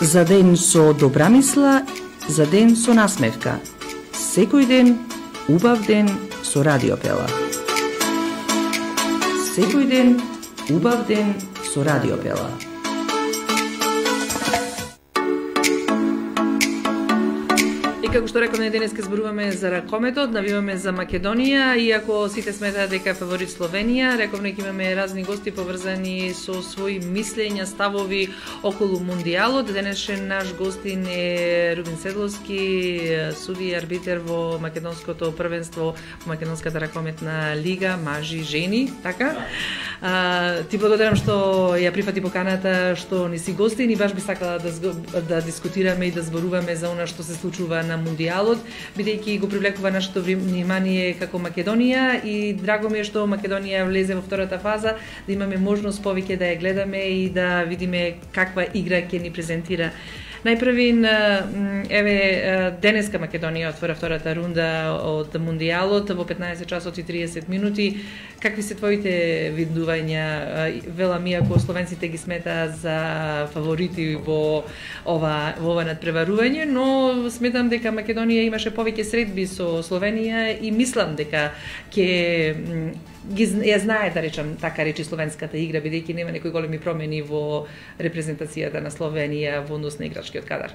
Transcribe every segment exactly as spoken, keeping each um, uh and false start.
За ден со добра мисла, за ден со насмевка. Секој ден, убав ден со Радиопела. Секој ден, убав ден со Радиопела. Како што рековме, денеска зборуваме за ракометот, навиваме за Македонија, иако сите сметаат дека е фаворит Словенија, рековме ќе имаме разни гости поврзани со своји мислења, ставови околу Мундијалот. Денешен наш гостин е Рубин Седловски, суди и арбитер во македонското првенство, во македонската ракометна лига, мажи, жени, така? А, ти благодарам што ја прифати поканата, што не си гостин и баш би сакала да, да дискутираме и да зборуваме за она што се случува на Мундијалот, бидејќи го привлекува нашето внимание како Македонија и драго ми е што Македонија влезе во втората фаза, да имаме можност повеќе да ја гледаме и да видиме каква игра ќе ни презентира. Најпрвин, еве, денеска Македонија отвора втората рунда од Мундијалот во петнаесет часот и тридесет минути. Какви се твоите видувања? Велам, иако словенците ги смета за фаворити во ова, во ова надпреварување, но сметам дека Македонија имаше повеќе средби со Словенија и мислам дека ќе ги ја знае, да речам, така речи словенската игра, бидејќи нема некои големи промени во репрезентацијата на Словенија во однос на играчкиот кадар.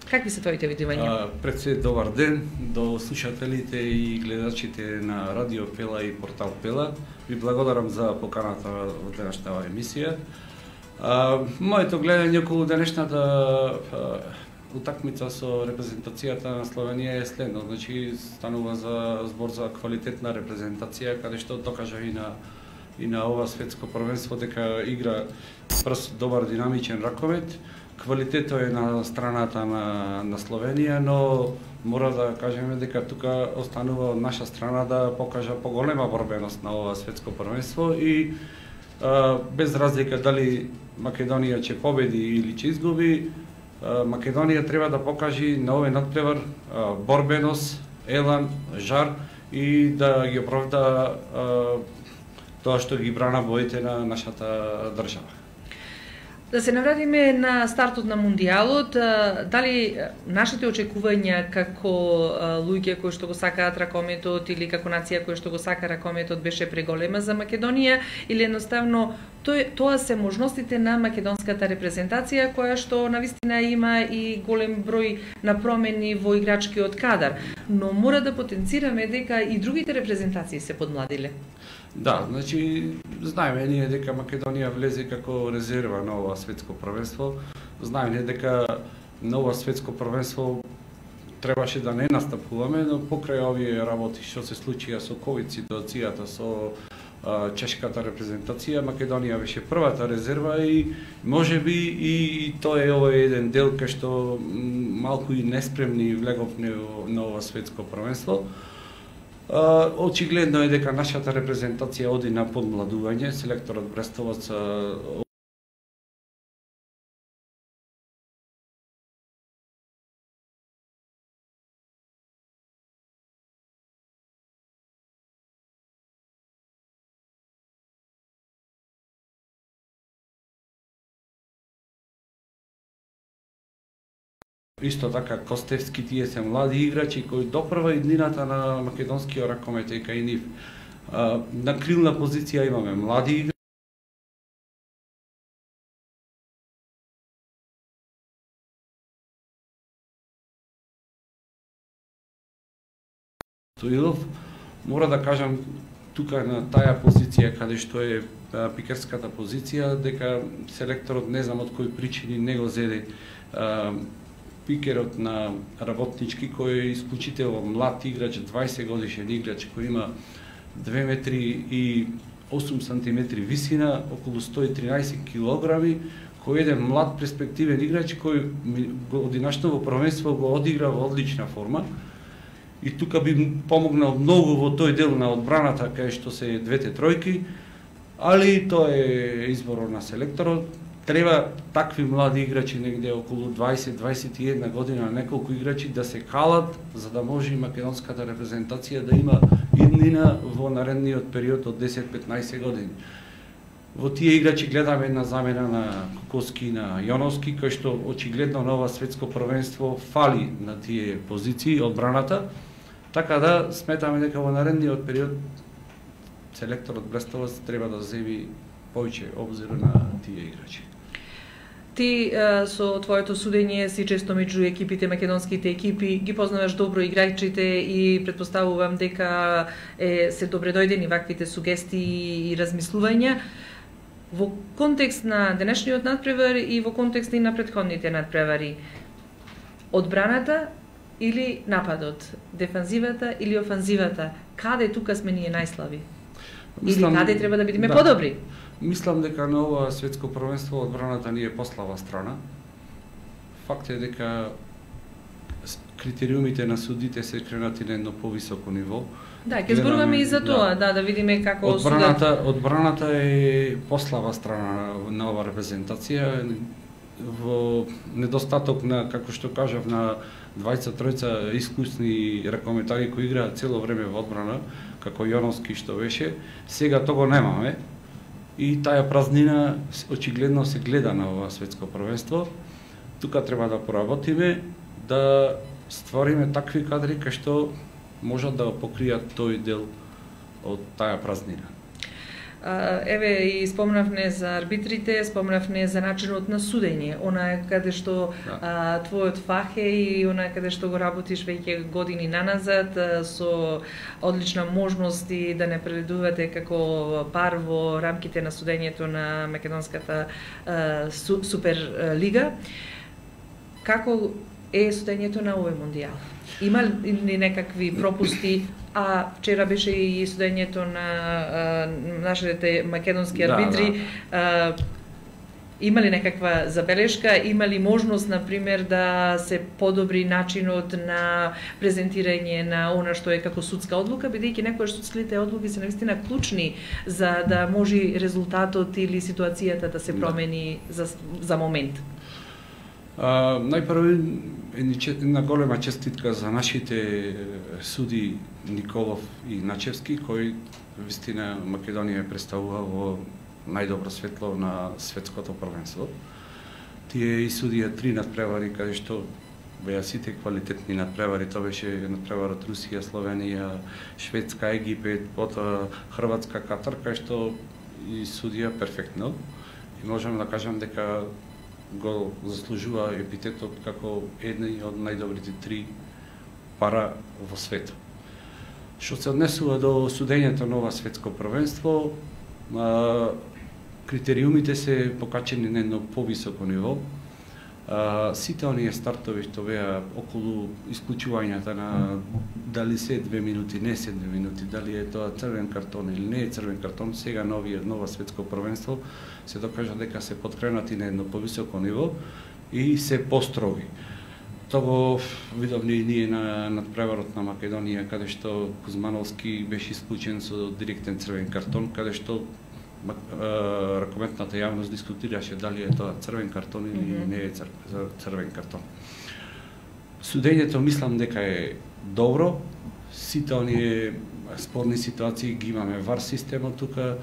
Какви се твоите видувања? Пред се добар ден до слушателите и гледачите на Радио Пела и портал Пела. Ви благодарам за поканата во денешната емисија. А, моето гледање околу денешната а, утакмица со репрезентацијата на Словенија е следно. Значи, станува за збор за квалитетна репрезентација, каде што докажа и на и на ова светско првенство дека игра брз, добар, динамичен ракомет. Квалитетот е на страната на, на Словенија, но мора да кажеме дека тука останува од наша страна да покажа поголема борбеност на ова светско првенство и а, без разлика дали Македонија ќе победи или ќе изгуби, а, Македонија треба да покажи на овој надпревар а, борбеност, елан, жар и да ги оправда а, тоа што ги брана боите на нашата држава. Да се навратиме на стартот на Мундијалот, дали нашите очекувања како луѓе кои што го сакаат ракометот или како нација која што го сака ракометот беше преголема за Македонија или едноставно тоа се можностите на македонската репрезентација која што навистина има и голем број на промени во играчкиот кадар, но мора да потенцираме дека и другите репрезентации се подмладиле. Да, значи знаеме ние дека Македонија влезе како резерва на ова светско првенство. Знаеме дека на ова светско првенство требаше да не настапуваме, но покрај овие работи што се случија со ковид ситуацијата, со а, чешката репрезентација, Македонија беше првата резерва и можеби и тоа е овој еден дел кај што малку и неспремни влеговме на ова светско првенство. Uh, очигледно е дека нашата репрезентација оди на подмладување. Селекторот Брестоваc uh, Исто така Костевски, тие се млади играчи кои допрва иднината на македонскиот ракомет е кај нив. На крилна позиција имаме млади играчи. Стоилов, мора да кажам тука на таа позиција каде што е пикерската позиција, дека селекторот не знам од кои причини не го зеде пикерот на работнички, кој е исклучително млад играч, дваесет годишен играч, кој има две метри и осум сантиметри висина, околу сто и тринаесет килограми, кој е еден млад перспективен играч кој одинашно во првенство го одигра во одлична форма. И тука би помогнал многу во тој дел на одбраната кај што се двете тројки, али тоа е изборот на селекторот. Треба такви млади играчи негде околу дваесет до дваесет и една година, неколку играчи да се калат за да може и македонската репрезентација да има иднина во наредниот период од десет до петнаесет години. Во тие играчи гледаме една замена на Коковски и на Јоновски, кој што очигледно на ова светско првенство фали на тие позиции одбраната, така да сметаме дека во наредниот период селекторот Брестоваc треба да земи повеќе обзир на тие играчи. Ти со твоето судење си често меѓу екипите, македонските екипи, ги познаваш добро играчите и претпоставувам дека е, се добре дојдени ваквите сугестии и размислувања. Во контекст на денешниот надпревар и во контекст и на претходните надпревари, одбраната или нападот, дефанзивата или офанзивата, каде тука сме ние најслаби? Мислам, или каде треба да бидеме да, подобри? Мислам дека на ова светско првенство одбраната ни е послаба страна. Факт е дека критериумите на судите се кренати на едно повисоко ниво. Да, ќе зборуваме и за тоа, да, да, да видиме како одбраната, судат... одбраната е послаба страна на ова репрезентација, во недостаток на, како што кажав, на двајца тројца искусни ракометари кои играат цело време во одбрана, како Јоновски што беше, сега тоа го немаме. И таа празнина очигледно се гледа на ова светско првенство. Тука треба да поработиме, да створиме такви кадри кај што можат да покријат тој дел од таа празнина. Еве и спомнавме за арбитрите, спомнавме за начинот на судење, она каде што да. а, твојот фах е и она каде што го работиш веќе години наназад, а, со одлична можност и да не преледувате како пар во рамките на судењето на македонската а, су, супер лига. Како е судењето на овој мондијал? Има ли некакви пропусти? А вчера беше и судењето на а, нашите македонски арбитри. Да, да. А, има ли некаква забелешка? Има ли можност, например, да се подобри начинот на презентирање на она што е како судска одлука, бидејќи некојаш судските одлуки се навистина клучни за да може резултатот или ситуацијата да се промени да. за, за момент? А, најпрво една голема честитка за нашите суди Николов и Начевски, кои вистина Македонија представува во најдобро светло на светското првенство. Тие и судија три надпревари каде што беа сите квалитетни надпревари, тоа беше надпреварот Русија, Словенија, Шведска, Египет, потоа Хрватска, Катар, кај што и судија перфектно. И можам да кажам дека го заслужува епитетот како едни од најдобрите три пара во светот. Што се однесува до судењето на ова светско првенство, а, критериумите се покачени на едно повисоко ниво. А, сите оние стартови што беа околу исклучувањата на дали се две минути, не се две минути, дали е тоа црвен картон или не е црвен картон, сега нови, нова светско првенство се докажа дека се подкренати на едно повисоко ниво и се построги. Тоа го видовме и ние на надпреварот на Македонија, каде што Кузмановски беше исклучен со директен црвен картон, каде што ракометната јавност дискутираше дали е тоа црвен картон или mm -hmm. не е црвен картон. Судењето мислам дека е добро, сите оние спорни ситуации ги имаме вар системот тука.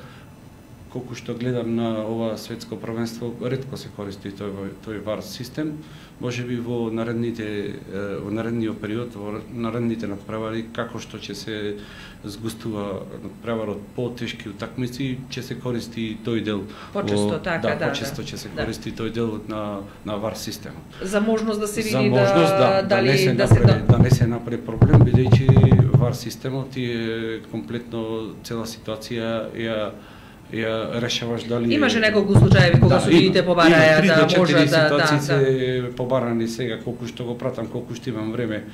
Колку што гледам на ова светско првенство, ретко се користи тој, тој вар систем. Може би во наредните во наредниот период, во наредните надпревари, како што ќе се згустува надпреварот по тешки утакмици, ќе се користи тој дел. Почесто, така, да. Да, почесто ќе се да. користи тој дел на на вар системот. За можност да се види За можност, да, да, дали да не се да направи, се да не се направи проблем, бидејќи вар системот е комплетно цела ситуација ја ја решаваш дали имаше неколку случаи кога да, судиите побараја да може да ситуации да, се да. побарани сега, колку што го пратам, колку што имам време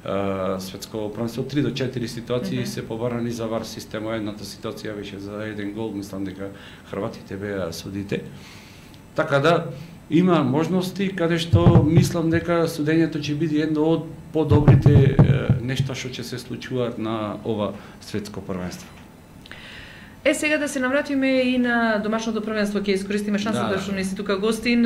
а, светско првенство, три до четири ситуации mm -hmm. се побарани за вар системот. Едната ситуација беше за еден гол, мислам дека хрватите беа судите. Така да има можности каде што мислам дека судењето ќе биде едно од подобрите нешта што ќе се случуваат на ова светско првенство. Е, сега да се навратиме и на домашното првенство, ќе искористиме шансата да, што не си тука гостин.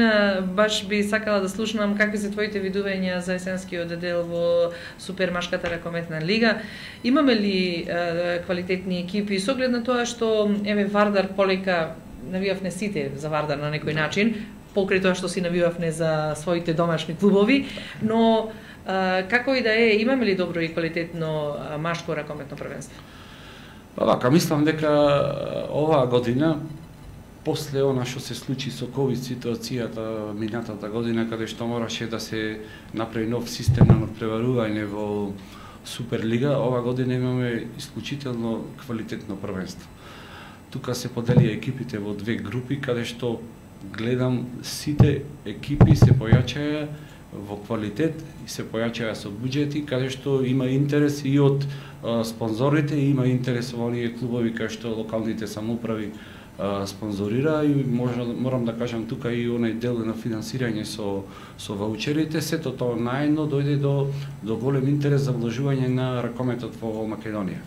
Баш би сакала да слушнам какви се твоите видувања за есенскиот дел во супермашката ракометна лига. Имаме ли е, квалитетни екипи со оглед на тоа што еве Вардар полека навивавме сите за Вардар на некој начин, покрај тоа што си навивавме за своите домашни клубови, но а, како и да е, имаме ли добро и квалитетно машко ракометно првенство? Па вака, мислам дека оваа година, после она што се случи со ковид ситуацијата минатата година, каде што мораше да се направи нов систем на надпреварување во Суперлига, ова година имаме исклучително квалитетно првенство. Тука се поделија екипите во две групи, каде што гледам сите екипи се појачаја во квалитет и се појачаја со буџети, каде што има интерес и од а, спонзорите, и има интерес во оние клубови каде што локалните самоуправи а, спонзорира, и може, морам да кажам тука и онај дел на финансирање со со ваучерите. Сето тоа наедно дојде до до голем интерес за вложување на ракометот во Македонија.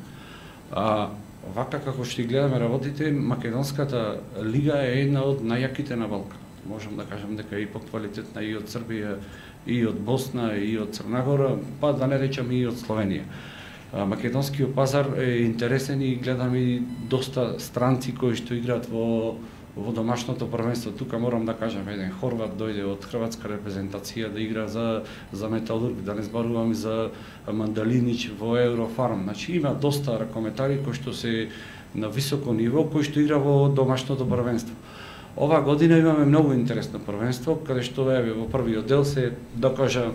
А вака како што гледаме работите, македонската лига е една од најјаките на Балкан. Можам да кажам дека е и поквалитетна и од Србија, и од Босна, и од Црна Гора, па да не речам и од Словенија. Македонскиот пазар е интересен и гледаме и доста странци кои што играат во во домашното првенство. Тука морам да кажам, еден хорват дојде од хрватска репрезентација да игра за за Металург, да не зборувам за Мандалинич во Еврофарм. Значи има доста ракометари кои што се на високо ниво, кои што игра во домашното првенство. Ова година имаме многу интересно првенство, каде што еве во првиот дел се докажа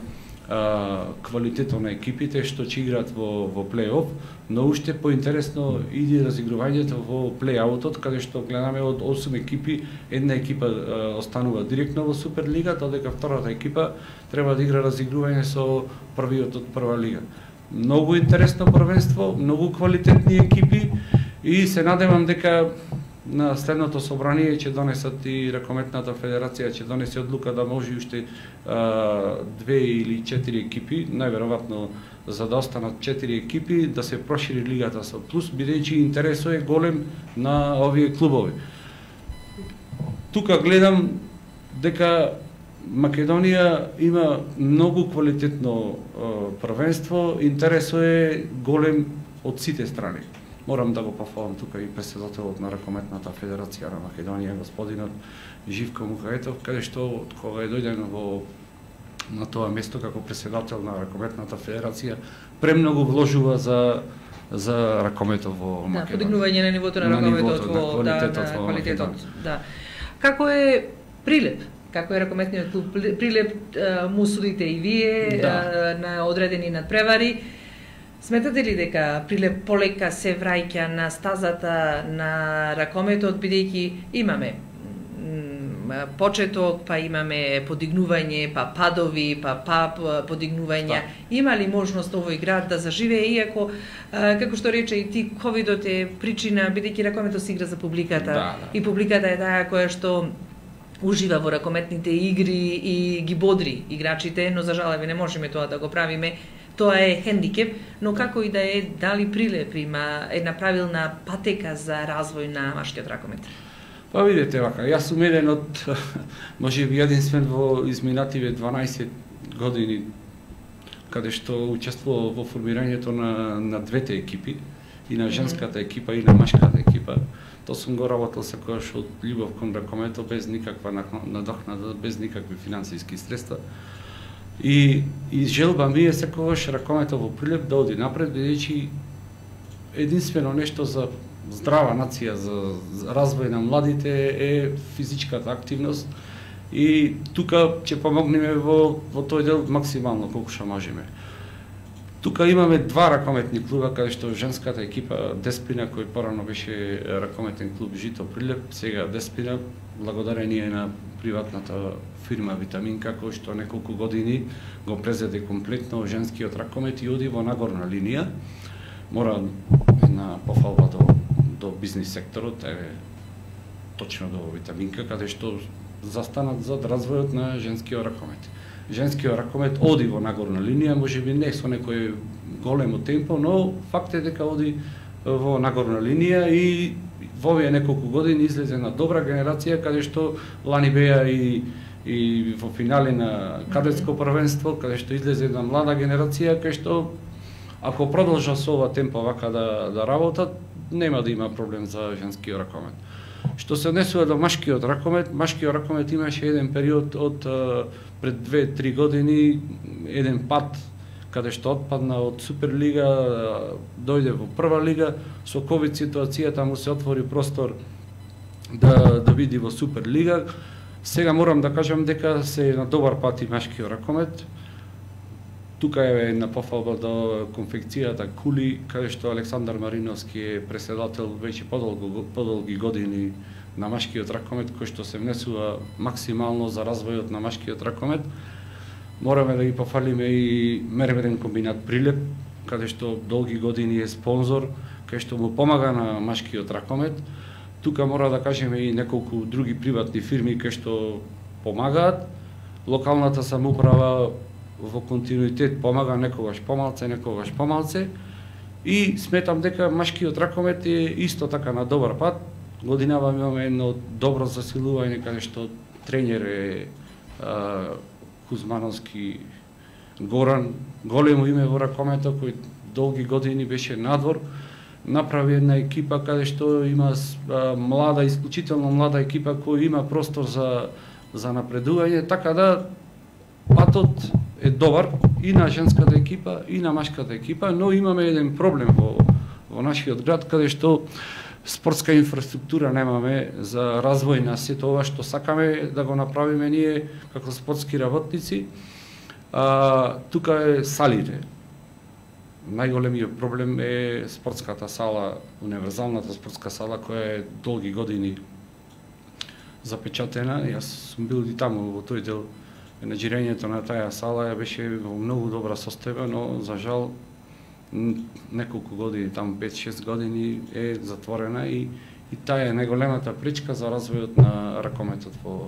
а, квалитетот на екипите што ќе играат во во плей-оф, но уште поинтересно иде разигрувањето во плей-аутот, каде што гледаме од осум екипи, една екипа а, останува директно во Суперлига, додека втората екипа треба да игра разигрување со првиот од прва лига. Многу интересно првенство, многу квалитетни екипи и се надевам дека на следното собрание ќе донесат и Ракометната федерација ќе донесе одлука да може уште а, две или четири екипи, најверојатно за да останат четири екипи, да се прошири лигата со плюс, бидејќи интересот е голем на овие клубови. Тука гледам дека Македонија има многу квалитетно а, првенство, интересот е голем од сите страни. Морам да го пофалам тука и претседателот на Ракометната федерација на Македонија, господинот Живко Мухаетов, каде што од кога е дојден во на тоа место како претседател на Ракометната федерација, премногу вложува за за ракометот во Македонија. Да, подигнување на нивото на, на ракометот во да, да, во квалитетот. Да. Како е Прилеп? Како е ракометниот клуб Прилеп, му судите и вие да. на одредени надпревари. Сметате ли дека Прилеп полека се враќа на стазата на ракометот, бидејќи имаме почеток, па имаме подигнување, па падови, па па подигнувања. Има ли можност овој град да заживее, иако, како што рече и ти, ковидот е причина, бидејќи ракометот се игра за публиката, да, да. И публиката е таа која што ужива во ракометните игри и ги бодри играчите, но за жалеви не можеме тоа да го правиме. Тоа е хендикеп, но како и да е, дали Прилеп има една правилна патека за развој на машкиот ракомет? Па видете вака, јас сум еден од, може би единствен во изминативе дванаесет години, каде што учествувал во формирањето на, на двете екипи, и на женската екипа и на машката екипа. Тоа сум го работел секогаш од љубов кон ракометот, без никаква надокнада, без никакви финансиски средства. И, и желба ми е секогаш ракометот во Прилеп да оди напред, бидејќи единствено нешто за здрава нација, за, за развој на младите е физичката активност, и тука ќе помогнеме во, во тој дел максимално колку што можеме. Тука имаме два ракометни клуба, каде што женската екипа Деспина, кој порано беше ракометен клуб Жито Прилеп, сега Деспина, благодарение на приватната фирма Витаминка, кој што неколку години го презеде комплетно женскиот ракомет и оди во нагорна линија. Мора една пофалба до, до бизнис секторот, е точно до Витаминка, каде што застанат зад развојот на женскиот ракомет. Женскиот ракомет оди во нагорна линија, можеби не со некој големо темпо, но факт е дека оди во нагорна линија и во овие неколку години излезе на добра генерација, каде што лани беа и и во финале на кадетско првенство, каде што излезе една млада генерација, кај што ако продолжа со ова темпо вака да, да работат, нема да има проблем за женскиот ракомет. Што се однесува до машкиот ракомет, машкиот ракомет имаше еден период од пред две-три години, еден пат каде што отпадна од Суперлига, дојде во прва лига, со ковид ситуацијата му се отвори простор да да види во Суперлига. Сега морам да кажам дека се на добар пат и машкиот ракомет. Тука е една пофалба до конфекцијата Кули, каде што Александар Мариновски е преседател веќе подолго подолги години на машкиот ракомет, кој што се внесува максимално за развојот на машкиот ракомет. Мораме да ги пофалиме и мермерен комбинат Прилеп, каде што долги години е спонзор, каде што му помага на машкиот ракомет. Тука мора да кажеме и неколку други приватни фирми каде што помагаат. Локалната самоуправа во континуитет помага, некогаш помалце, некогаш помалце. И сметам дека машкиот ракомет е исто така на добар пат. Годинава имаме едно добро засилување, каде што тренер е а, Кузмановски Горан, големо име во ракометот, кој долги години беше надвор. Направи една екипа каде што има а, млада, исклучително млада екипа која има простор за, за напредување, така да патот е добар и на женската екипа и на машката екипа, но имаме еден проблем во, во нашиот град, каде што спортска инфраструктура немаме за развој на сето ова што сакаме да го направиме ние како спортски работници. А, тука е салите. Најголемиот проблем е спортската сала, универзалната спортска сала, која е долги години запечатена. Јас сум бил и таму во тој дел. Менаџирањето на таа сала беше во многу добра состојба, но за жал неколку години, таму пет-шест години е затворена и, и таа е најголемата пречка за развојот на ракометот во,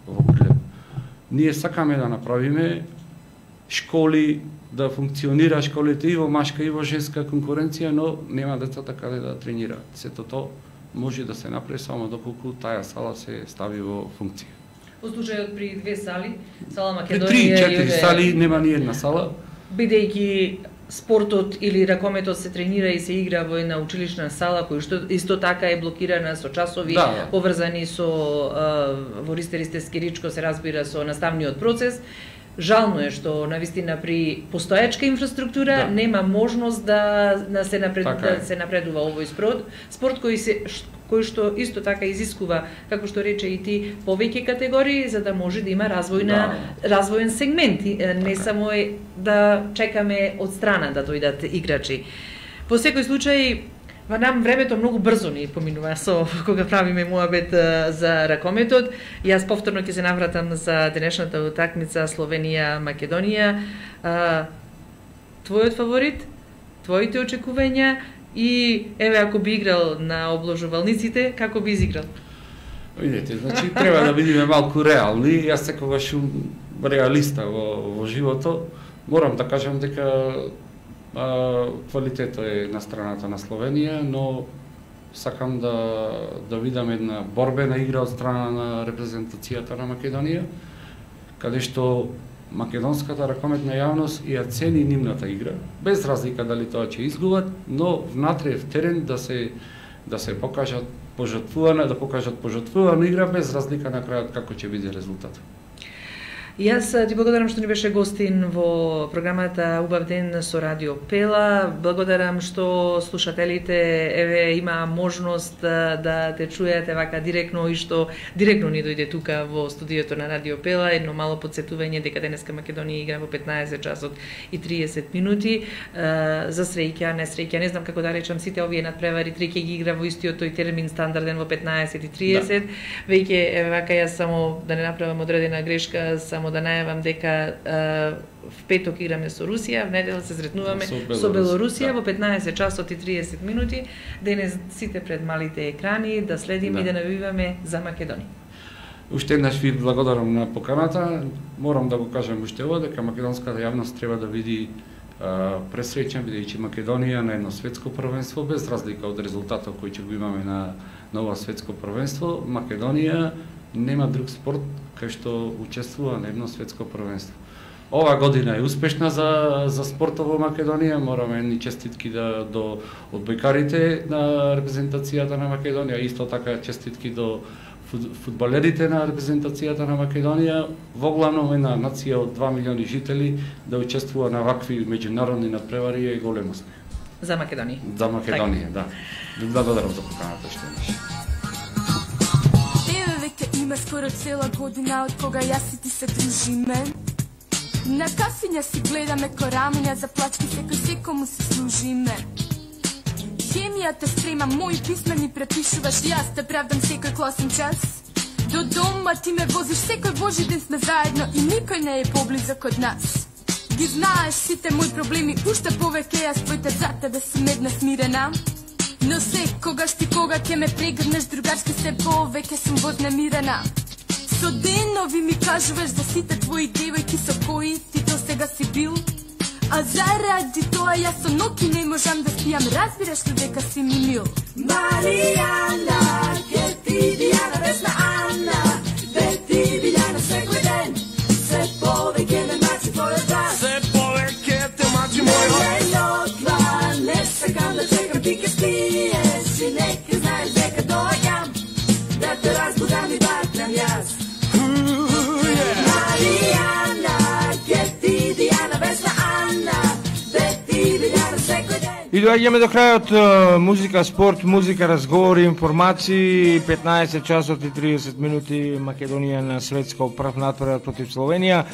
во Прилеп. Ние сакаме да направиме школи, да функционира школите и во машка и во женска конкуренција, но нема децата каде да тренираат. Сето тоа може да се направи само доколку таа сала се стави во функција. Во случајот при две сали, сала Македонија, при три-четири сали нема ни една сала. Бидејќи спортот или ракометот се тренира и се игра во една училишна сала, која што исто така е блокирана со часови, да, поврзани со во ристеристески ричко се разбира со наставниот процес. Жално е што навистина при постоечка инфраструктура да. нема можност да, да, се, напред, да се напредува овој спорт, спорт кој се кој што исто така изискува, како што рече и ти, повеќе категории за да може да има развојна да. развоен сегмент, не само е да чекаме од страна да дојдат играчи. Во секој случај, во нам времето многу брзо ни поминува со кога правиме муабет за ракометот. Јас повторно ќе се навратам за денешната утакмица Словенија-Македонија. Твојот фаворит, твоите очекувања и еве ако би играл на обложувалниците, како би изиграл? Видете, значи треба да бидеме малку реални. Јас секогаш сум реалиста во, во животот. Морам да кажам дека а, квалитетот е на страната на Словенија, но сакам да да видам една борбена игра од страна на репрезентацијата на Македонија, каде што македонската ракометна јавност ја цени нивната игра, без разлика дали тоа ќе изгубат, но внатре в терен да се да се покажат пожртвувана, да покажат пожртвувана игра без разлика на крајот како ќе биде резултатот. Јас ти благодарам што ни беше гостин во програмата Убав ден со Радио Пела. Благодарам што слушателите еве има можност да, да те чуете вака директно и што директно ни дојде тука во студиото на Радио Пела. Едно мало потсетување дека денеска Македонија игра во петнаесет часот и триесет минути. За среќа, не среќа, не знам како да речам, сите овие надпревари три ќе ги игра во истиот тој термин стандарден во петнаесет и триесет. Да. Веќе еве вака јас само да не направам одредена грешка, само да најавам дека а, в петок играме со Русија, в недела се сретнуваме со Белорусија, со Белорусија да. Во петнаесет часот и триесет минути. Денес сите пред малите екрани да следиме да. И да навиваме за Македонија. Уште еднаш ви благодарам на поканата. Морам да го кажам уште ова дека македонската јавност треба да види а, пресреќен, бидејќи Македонија на едно светско првенство, без разлика од резултатот кој ќе го имаме на, на ова светско првенство, Македонија нема друг спорт кај што учествува на едно светско првенство. ова година е успешна за за спортот во Македонија. Мораме ни честитки да до одбојкарите на репрезентацијата на Македонија, исто така честитки до фудбалерите на репрезентацијата на Македонија. Во главно една нација од два милиони жители да учествува на вакви меѓународни надпревари е голем успех. За Македонија. За Македонија, да. Ви благодарам за поканата што имаш. Еве веќе има скоро цела година од кога јас и ти се дружиме. На кафиња си гледаме корамиња, за плачки секој секому се служиме. Хемијата спрема, мои писмени препишуваш, јас те правдам секој класен час. До дома ти ме возиш, секој божи ден сме заедно и никој не е поблизок од нас. Ги знаеш сите мои проблеми, уште повеќе јас твоите за тебе сум една смирена. Но секогаш ти кога ќе ме прегрнеш, другарски се повеќе сум вознемирена. Со денови ми кажуваш за сите твои девојки со кои ти до сега си бил. А заради тоа јас со ноки не можам да спијам, разбираш ли дека си ми мил? Маријана, Кети, Дијана, Весна, Ана, Бети, Билјана, секој ден се повеќе ме мачи твојот глас. Се повеќе те мачи мојот глас. Не, не сакам да чекам, ти ке спиеш и нека знаеш дека доаѓам да те разбудам и бакнам јас. И доаѓаме до крајот музика, спорт, музика, разговори, информации. петнаесет часот и триесет минути, Македонија на светско прв натпревар против Словенија.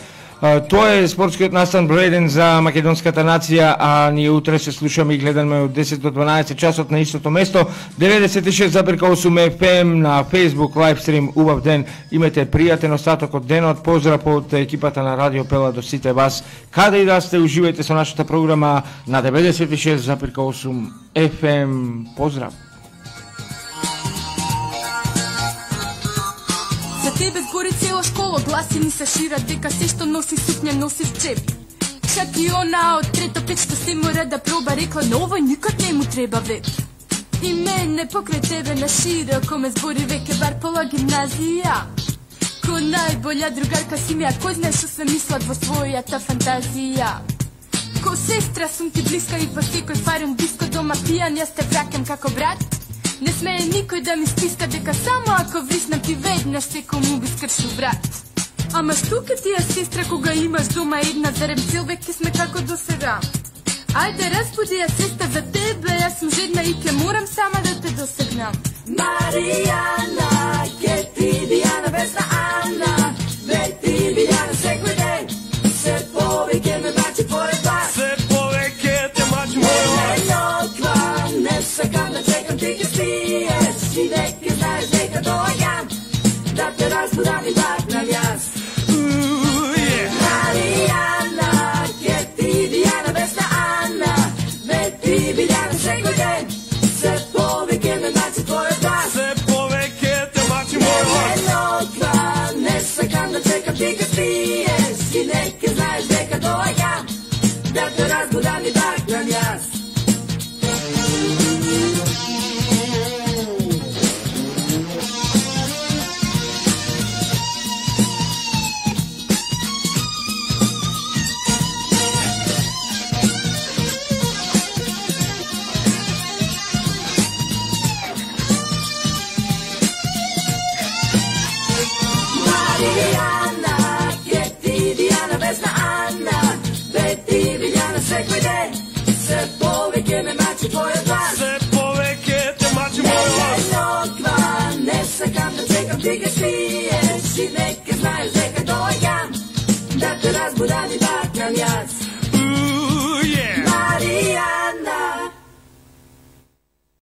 Тоа е спортскиот настан број еден за македонската нација, а ние утре се слушаме и гледаме од десет до дванаесет часот на истото место. деветдесет и шест запирка осум еф ем на Facebook лайвстрим. Убав ден, имате пријатен остаток од денот. Поздрав од екипата на Радио Пела до сите вас. Каде и да сте, уживајте со нашата програма на деветдесет и шест запирка осум еф ем. Поздрав. Тебе згори цела школа, гласи ни се шират дека се што носи сукња носи в джеп. Чак и она од трето пет што се мора да проба, рекла но овој никад не му треба веб. И мене покрај тебе на широко ме збори веќе бар пола гимназија. Ко најболја другарка си ми, а кој знае што се мислат во својата фантазија. Ко сестра сум ти блиска и по секој фарум диско дома пијан, јас те вракам како брат. Не смее никој да ми стиска дека само ако вриснам ти веднаш секому би скршил брат. Ама што ке ти е сестра кога имаш дома една, зарем цел веќе сме како до сега. Ајде разбуди ја сестра за тебе, јас сум жедна и ке морам сама да те досегнам. Маријана, Кети, Дијана, Весна, Ана, Бети, Билјана, секој ден се повеќе ме мачи твојот глас. Се повеќе те мачи мојот глас. Не сакам да чекам, ти ке спиеш и нека знаеш дека доаѓам да те разбудам и бакнам јас. Маријана, Кети, Дијана, Весна, Ана, Бети, Билјана, секој ден се повеќе ме мачи твојот глас. Се повеќе те мачи мојот глас. Не сакам да чекам, ти ке спиеш и нека знаеш дека доаѓам да те разбудам и бакнам јас. Маријана, Кети, Дијана, Весна, Ана, Бети, Билјана, секој ден се повеќе ме мачи твојот глас. Се повеќе те мачи мојот глас. Не сакам да чекам, ти ке спиеш и нека знаеш дека доаѓам да те разбудам и бакнам јас.